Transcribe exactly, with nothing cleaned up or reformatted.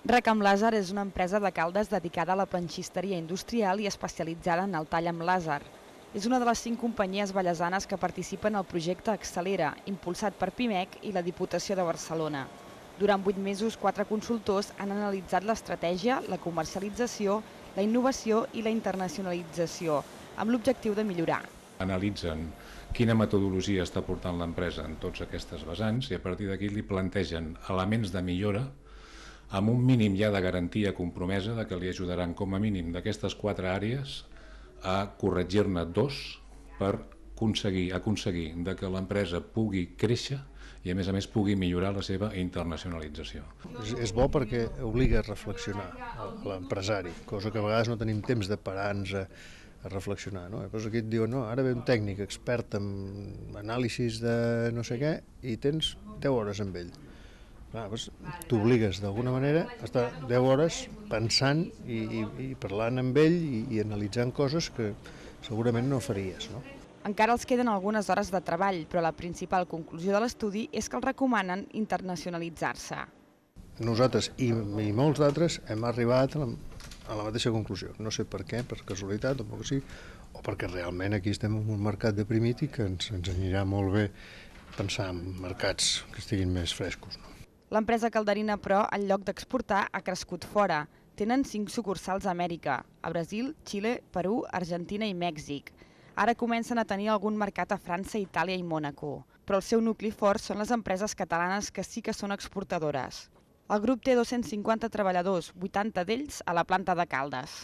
Recam Làser és una empresa de Caldes dedicada a la planxisteria industrial i especialitzada en el tall amb làser. És una de les cinc companyies vallesanes que participen al projecte Accelera, impulsat per Pimec i la Diputació de Barcelona. Durant vuit mesos, quatre consultors han analitzat l'estratègia, la comercialització, la innovació i la internacionalització, amb l'objectiu de millorar. Analitzen quina metodologia està portant l'empresa en tots aquestes vessants i a partir d'aquí li plantegen elements de millora amb un mínim ja de garantia compromesa de que li ajudaran com a mínim d'aquestes quatre àrees a corregir-ne dos per aconseguir, aconseguir de que l'empresa pugui créixer i a més a més pugui millorar la seva internacionalització. És, és bo perquè obliga a reflexionar l'empresari, cosa que a vegades no tenim temps de parar-nos a, a reflexionar. No? Llavors aquí et diuen, no, ara ve un tècnic expert en anàlisis de no sé què i tens deu hores amb ell. Doncs t'obligues d'alguna manera a estar deu hores pensant i, i, i parlant amb ell i, i analitzant coses que segurament no faries. No? Encara els queden algunes hores de treball, però la principal conclusió de l'estudi és que els recomanen internacionalitzar-se. Nosaltres i, i molts d'altres hem arribat a la, a la mateixa conclusió. No sé per què, per casualitat o perquè sí, o perquè realment aquí estem en un mercat deprimit i que ens, ens anirà molt bé pensar en mercats que estiguin més frescos. No? L'empresa calderina, però, en lloc d'exportar, ha crescut fora. Tenen cinc sucursals a Amèrica, a Brasil, Xile, Perú, Argentina i Mèxic. Ara comencen a tenir algun mercat a França, Itàlia i Mònaco, però el seu nucli fort són les empreses catalanes que sí que són exportadores. El grup té dos-cents cinquanta treballadors, vuitanta d'ells a la planta de Caldes.